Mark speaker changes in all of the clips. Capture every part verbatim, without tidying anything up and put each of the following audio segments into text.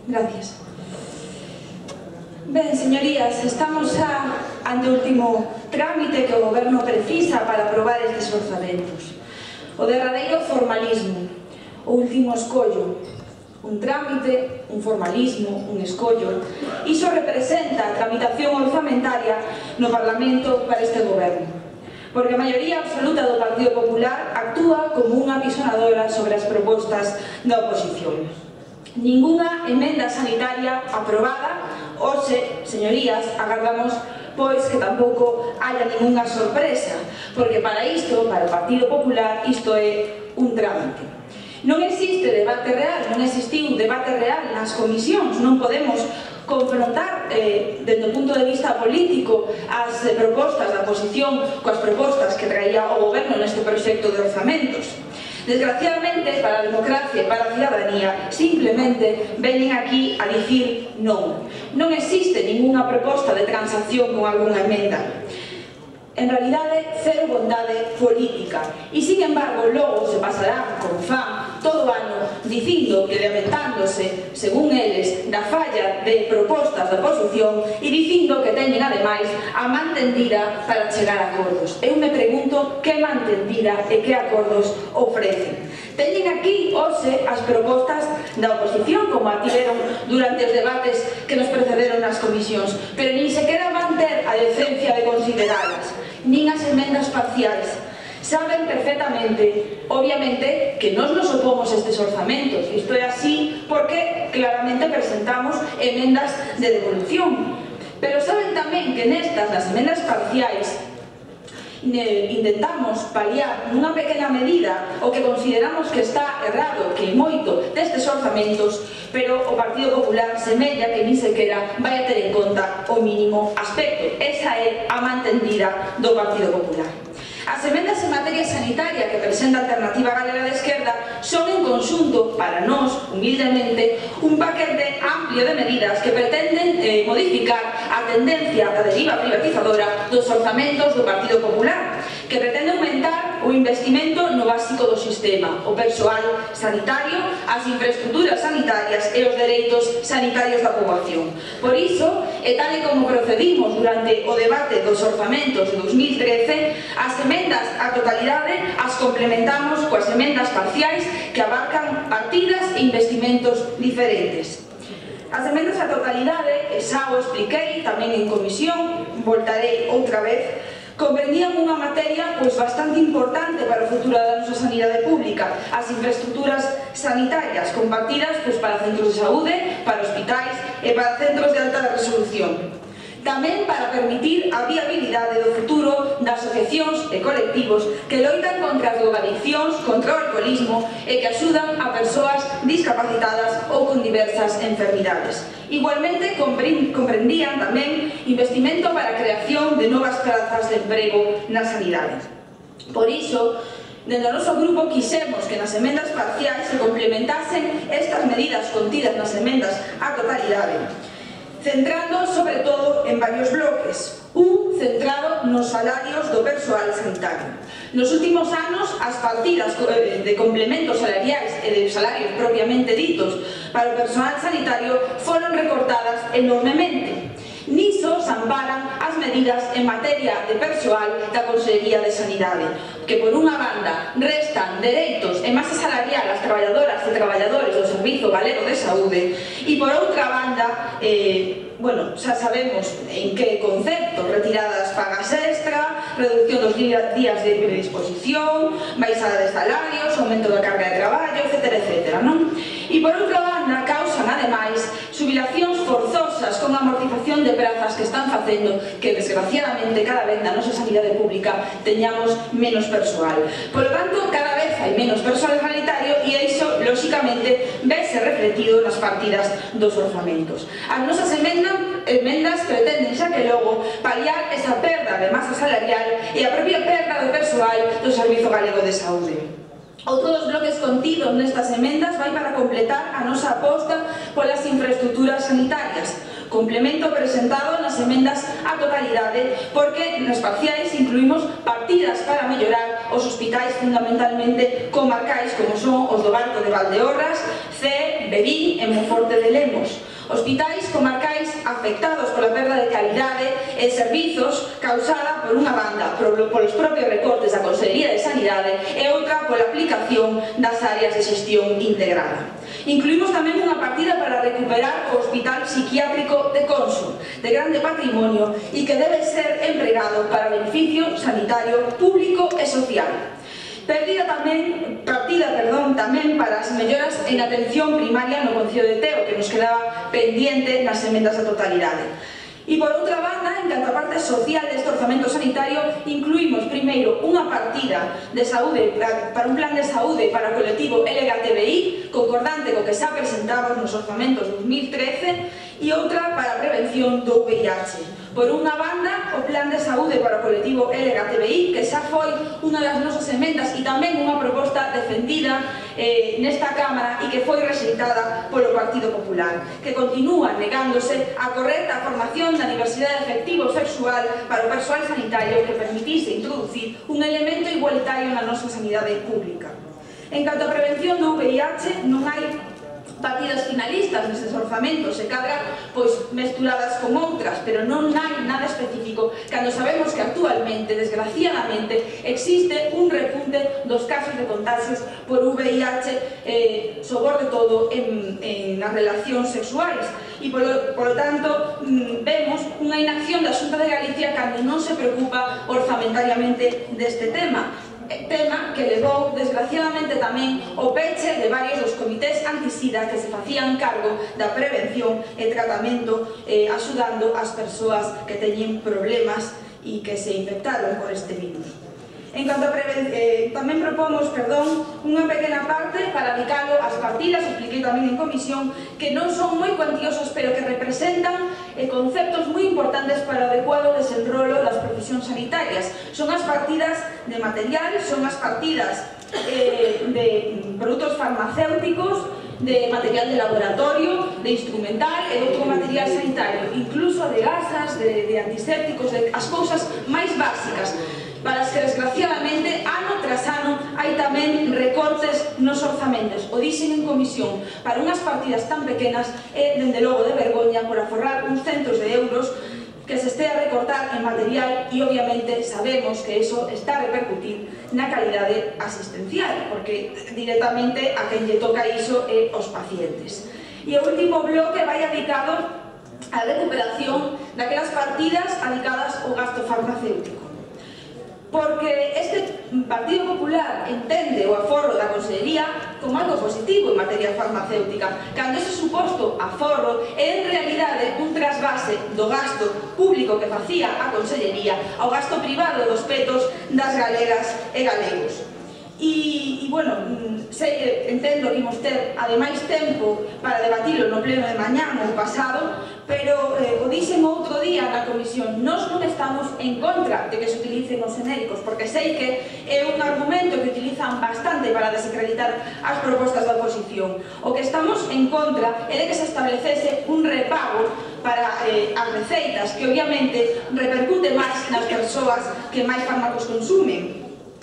Speaker 1: Gracias. Ben, señorías, estamos xa ante o último trámite que o Goberno precisa para aprobar estes orzamentos. O derradeiro formalismo, o último escollo. Un trámite, un formalismo, un escollo. Iso representa a tramitación orzamentaria no Parlamento para este Goberno. Porque a maioría absoluta do Partido Popular actúa como unha apisonadora sobre as propostas da oposición. Ninguna emenda sanitaria aprobada. Hoxe, señorías, agardamos pois que tampouco haya ninguna sorpresa, porque para isto, para o Partido Popular, isto é un trámite. Non existe debate real, non existiu debate real nas comisións, non podemos confrontar eh, desde o punto de vista político as eh, propostas da oposición coas propostas que traía o Goberno neste proxecto de orzamentos. Desgraciadamente, para a democracia e para a cidadanía, simplemente veñen aquí a dicir non. Non existe ninguna proposta de transacción con algunha emenda. En realidade, cero bondade política. E, sin embargo, logo se pasarán, como fan, todo o ano, dicindo que lamentándose, según eles, da falla de propostas da oposición e dicindo que teñen, ademais, a man tendida para chegar a acordos. Eu me pregunto que man tendida e que acordos ofrecen. Teñen aquí, hoxe, as propostas da oposición, como a tiveron durante os debates que nos precederon nas comisións, pero nin sequera van ter a decencia de consideralas, nin as emendas parciais. Saben perfectamente, obviamente, que nos nos opomos a estes orzamentos. Isto é así porque claramente presentamos emendas de devolución. Pero saben tamén que nestas, nas emendas parciais, intentamos paliar nunha pequena medida o que consideramos que está errado, que é moito destes orzamentos, pero o Partido Popular semella que nin sequera vai a ter en conta o mínimo aspecto. Esa é a mantendida do Partido Popular. As emendas en materia sanitaria que presenta a Alternativa Galega de Esquerda son en conxunto, para nós, humildemente, un paquete amplio de medidas que pretenden eh, modificar a tendencia da deriva privatizadora dos orzamentos do Partido Popular, que pretende aumentar o investimento no básico do sistema, o persoal sanitario, as infraestructuras sanitarias e os dereitos sanitarios da poboación. Por iso, e tal e como procedimos durante o debate dos orzamentos de dos mil trece, as emendas á totalidade as complementamos coas emendas parciais que abarcan partidas e investimentos diferentes. As emendas á totalidade, xa o expliquei tamén en comisión, voltarei outra vez, comprendían unha materia pois bastante importante para o futuro da nosa sanidade pública, as infraestructuras sanitarias compartidas pois para centros de saúde, para hospitais e para centros de alta resolución. Tamén para permitir a viabilidade do futuro das asociacións e colectivos que loitan contra as drogadiccións, contra o alcoholismo e que axudan a persoas discapacitadas ou con diversas enfermidades. Igualmente comprendían tamén investimento para a creación de novas plazas de emprego na sanidade. Por iso, dentro do noso grupo quixemos que nas emendas parciais se complementasen estas medidas contidas nas emendas á totalidade, centrando sobre todo en varios bloques. Un centrado nos salarios do persoal sanitario. Nos últimos anos, as partidas de complementos salariais e de salarios propiamente ditos para o persoal sanitario foron recortadas enormemente. Niso se amparan as medidas en materia de persoal da Consellería de Sanidade, que por unha banda restan dereitos e masa salarial ás traballadoras e traballadores do Servizo Galego de Saúde e por outra banda, eh, bueno, xa sabemos en que concepto, retiradas pagas extra, reducción dos días de predisposición, baixada de salarios, aumento da carga de traballo, etcétera, etcétera, non? E por outra banda, causan, ademais, xubilacións forzosas con amortización de prazas que están facendo que, desgraciadamente, cada vez na nosa sanidade pública teñamos menos persoal. Por lo tanto, cada vez hai menos persoal sanitario e iso, lóxicamente, vese refletido nas partidas dos orzamentos. As nosas emendas, emendas pretenden xa que logo paliar esa perda de masa salarial e a propia perda de persoal do Servizo Galego de Saúde. Outro dos bloques contidos nestas emendas vai para completar a nosa aposta polas infraestructuras sanitarias, complemento presentado nas emendas á totalidade, porque nas parciais incluímos partidas para mellorar os hospitais fundamentalmente comarcais como son os do Barco de Valdeorras, Cee, Verín e Monforte de Lemos. Hospitais comarcais afectados pola perda de calidade e servizos causada por unha banda polos propios recortes da Consellería de Sanidade e outra pola aplicación das áreas de xestión integrada. Incluímos tamén unha partida para recuperar o Hospital Psiquiátrico de Conso, de grande patrimonio e que debe ser empregado para beneficio sanitario público e social. Perdida tamén, partida, perdón, tamén para as melloras en atención primaria no Concello de Teo, que nos quedaba pendiente nas emendas da totalidade. E por outra banda, en canto a parte social deste orzamento sanitario, incluímos primeiro unha partida de saúde para un plan de saúde para o colectivo L G T B I, concordante co que xa presentamos nos orzamentos dos mil trece, e outra para a prevención do V I H. Por unha banda, o plan de saúde para o colectivo L G T B I, que xa foi unha das nosas emendas e tamén unha proposta defendida eh, nesta Cámara e que foi rexeitada polo Partido Popular, que continúa negándose a correcta formación da diversidade afectivo sexual para o persoal sanitario que permitise introducir un elemento igualitario na nosa sanidade pública. En canto a prevención do V I H, non hai partidas finalistas neses orzamentos e cadra pois mesturadas con outras, pero non hai nada específico cando sabemos que actualmente, desgraciadamente, existe un repunte dos casos de contagios por V I H eh, sobre todo en, en as relacións sexuais e polo, polo tanto mmm, vemos unha inacción da Xunta de Galicia cando non se preocupa orzamentariamente deste tema. Tema que levou, desgraciadamente, tamén o peche de varios dos comités antisida que se facían cargo da prevención e tratamento eh, axudando as persoas que teñen problemas e que se infectaron por este virus. En canto a prevención, eh, tamén propomos, perdón, unha pequena parte para dedicalo ás partidas, expliquei tamén en comisión, que non son moi cuantiosos, pero que representan eh, conceptos moi importantes para o adecuado desenrolo das profesións sanitarias. Son as partidas de material, son as partidas eh, de produtos farmacéuticos, de material de laboratorio, de instrumental e outro material sanitario, incluso de gasas, de, de antisépticos, de as cousas máis básicas, para as que, desgraciadamente, ano tras ano hai tamén recortes nos orzamentos. O dixen en comisión, para unhas partidas tan pequenas é, dende logo, de vergoña por aforrar uns centos de euros que se este a recortar en material e, obviamente, sabemos que iso está a repercutir na calidade asistencial, porque directamente a quen lle toca iso é os pacientes. E o último bloque vai dedicado á recuperación daquelas partidas dedicadas ao gasto farmacéutico. Porque este Partido Popular entende o aforro da Consellería como algo positivo en materia farmacéutica, cando ese suposto aforro é en realidade un trasvase do gasto público que facía a Consellería ao gasto privado dos petos das galegas e galegos. E, e bueno, sei, entendo que imos ter ademais tempo para debatilo no pleno de mañá ou pasado, pero eh, o dixen outro día na comisión, nós non estamos en contra de que se utilicen os genéricos, porque sei que é un argumento que utilizan bastante para desacreditar as propostas da oposición. O que estamos en contra é de que se establecese un repago para eh, as receitas, que obviamente repercute máis nas persoas que máis fármacos consumen,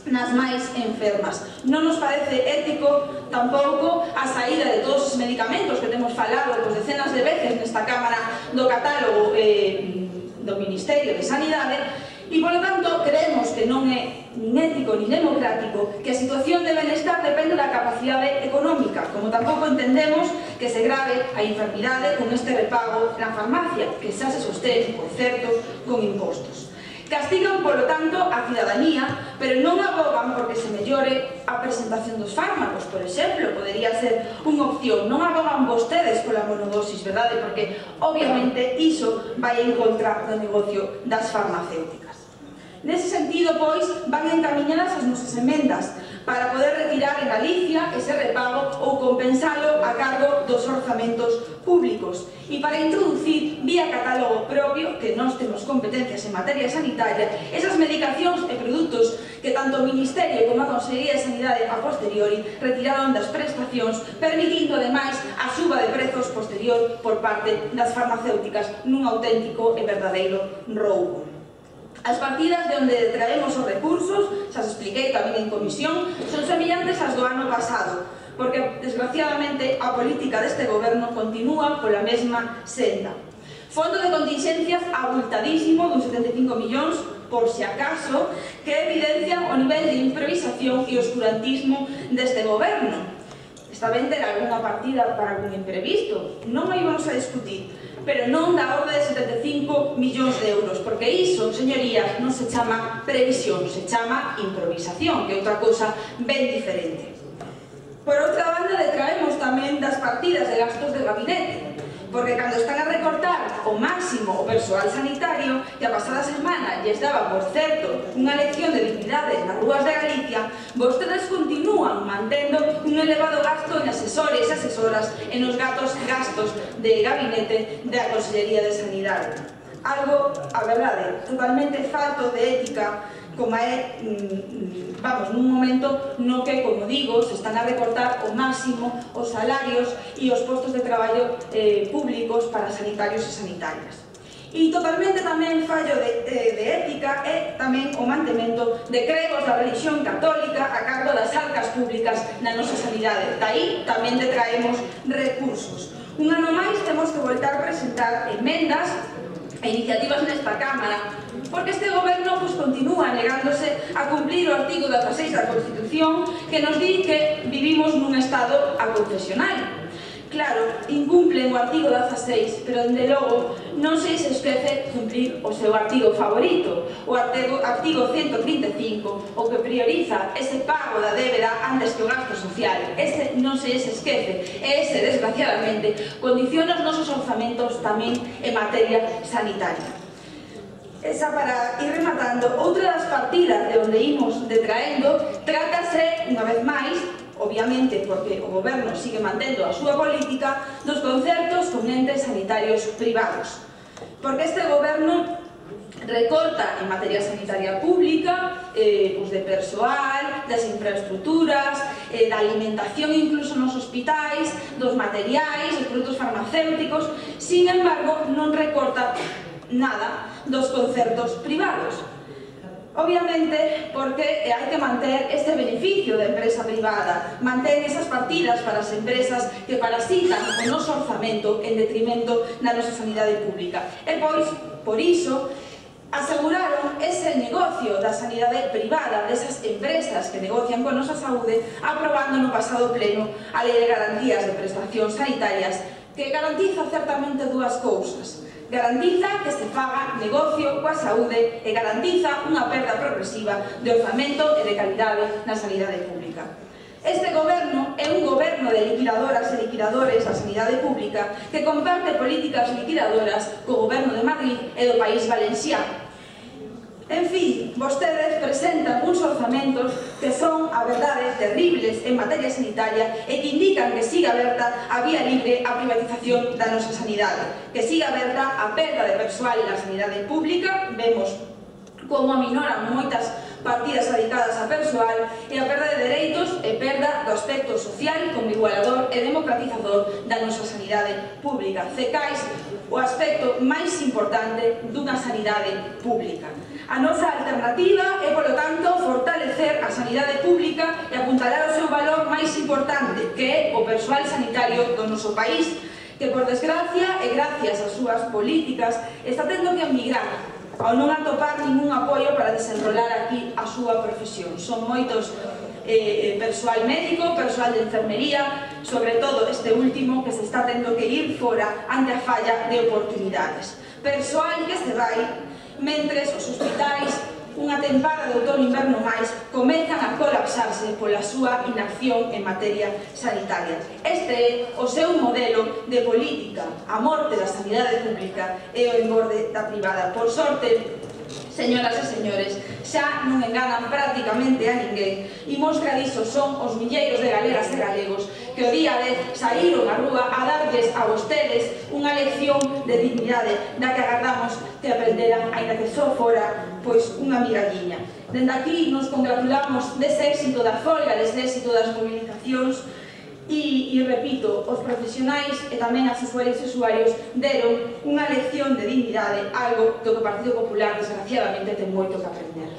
Speaker 1: nas máis enfermas. Non nos parece ético tampouco a saída de todos os medicamentos que temos falado pues, decenas de veces nesta Cámara do catálogo eh, do Ministerio de Sanidade e, polo tanto, creemos que non é nin ético nin democrático que a situación de benestar depende da capacidade económica, como tampouco entendemos que se grave a enfermidade con este repago na farmacia, que xa se sostén, por certo, con impostos. Castigan, polo tanto, a cidadanía, pero non abogan porque se mellore a presentación dos fármacos, por exemplo, podería ser unha opción. Non abogan vostedes pola monodosis, verdade? Porque, obviamente, iso vai en contra do negocio das farmacéuticas. Nese sentido, pois, van encaminhadas as nosas emendas para poder retirar en Galicia ese repago ou compensalo a cargo dos orzamentos públicos e para introducir vía catálogo propio, que nós temos competencias en materia sanitaria, esas medicacións e produtos que tanto o Ministerio como a Consellería de Sanidade a posteriori retiraron das prestacións, permitindo ademais a suba de prezos posterior por parte das farmacéuticas nun auténtico e verdadeiro roubo. As partidas de onde traemos os recursos, xa os expliquei tamén en comisión, son semellantes ás do ano pasado, porque, desgraciadamente, a política deste goberno continúa pola mesma senda. Fondo de contingencias abultadísimo, dun setenta e cinco millóns, por si acaso, que evidencian o nivel de improvisación e oscurantismo deste goberno. Está ben ter algunha partida para algún imprevisto, non a íbamos a discutir, pero non da orde de setenta e cinco millóns de euros, porque iso, señorías, non se chama previsión, se chama improvisación, que é outra cousa ben diferente. Por outra banda, detraemos tamén das partidas de gastos de gabinete, porque cando están a recortar o máximo o persoal sanitario, que a pasada semana lles daba, por certo, unha lección de dignidade nas rúas de Galicia, vostedes continúan mantendo un elevado gasto en asesores e asesoras e nos gastos gastos de gabinete da Consellería de Sanidade. Algo, a verdade, totalmente falto de ética, como é, vamos, nun momento no que, como digo, se están a recortar ao máximo os salarios e os postos de traballo eh, públicos para sanitarios e sanitarias. E totalmente tamén fallo de, de, de ética é tamén o mantemento de cregos da religión católica a cargo das arcas públicas na nosa sanidade. Daí tamén detraemos recursos. Un ano máis temos que voltar a presentar emendas e iniciativas nesta Cámara, porque este goberno pues, continúa negándose a cumplir o artigo dieciséis da Constitución que nos di que vivimos nun estado aconfesional. Claro, incumplen o artigo dieciséis, pero dende logo non se se esquece cumplir o seu artigo favorito, o artigo, artigo ciento trinta e cinco, o que prioriza ese pago da débeda antes que o gasto social. Ese non se se esquece, e ese, desgraciadamente, condiciona os nosos orzamentos tamén en materia sanitaria. Esa, para ir rematando, outra das partidas de onde imos detraendo, trátase, unha vez máis, obviamente porque o goberno sigue mantendo a súa política, dos concertos con entes sanitarios privados. Porque este goberno recorta en materia sanitaria pública, eh, pues de persoal, das infraestructuras, eh, da alimentación incluso nos hospitais, dos materiais, dos produtos farmacéuticos. Sin embargo, non recorta nada dos concertos privados. Obviamente, porque hai que manter este beneficio da empresa privada, manter esas partidas para as empresas que parasitan o noso orzamento en detrimento da nosa sanidade pública. E pois, por iso, aseguraron ese negocio da sanidade privada, desas empresas que negocian con nosa saúde, aprobando no pasado pleno a Lei de Garantías de Prestacións Sanitarias, que garantiza certamente dúas cousas. Garantiza que se faga negocio coa saúde e garantiza unha perda progresiva de orzamento e de calidade na sanidade pública. Este goberno é un goberno de liquidadoras e liquidadores da sanidade pública que comparte políticas liquidadoras co goberno de Madrid e do País Valenciano. En fin, vostedes presentan uns orzamentos que son, a verdade, terribles en materia sanitaria e que indican que siga aberta a vía libre a privatización da nosa sanidade, que siga aberta a perda de persoal na sanidade pública. Vemos como aminoran moitas partidas dedicadas a persoal e a perda de dereitos e perda do aspecto social como igualador e democratizador da nosa sanidade pública. Cecais o aspecto máis importante dunha sanidade pública. A nosa alternativa é, polo tanto, fortalecer a sanidade pública e apuntalar o seu valor máis importante, que é o persoal sanitario do noso país, que, por desgracia e gracias ás súas políticas, está tendo que emigrar ao non atopar ningún apoio para desenrolar aquí a súa profesión. Son moitos eh, persoal médico, persoal de enfermería, sobre todo este último que se está tendo que ir fora ante a falla de oportunidades. Persoal que se vai mentres os hospitais, unha tempada de outono-inverno máis, comezan a colapsarse pola súa inacción en materia sanitaria. Este é o seu modelo de política, a morte da sanidade pública e o engorde da privada. Por sorte, señoras e señores, xa non enganan prácticamente a ninguén. Imos que a diso son os milleiros de galegas e galegos que o día dez saíron á rúa a darlles a vostedes unha lección de dignidade da que agardamos que aprenderan, aínda que só fora pois unha migalliña. Dende aquí nos congratulamos dese éxito da folga, dese éxito das movilizacións E, e repito, os profesionais e tamén as usuarias e usuarios deron unha lección de dignidade, algo do que o Partido Popular, desgraciadamente, ten moito que aprender.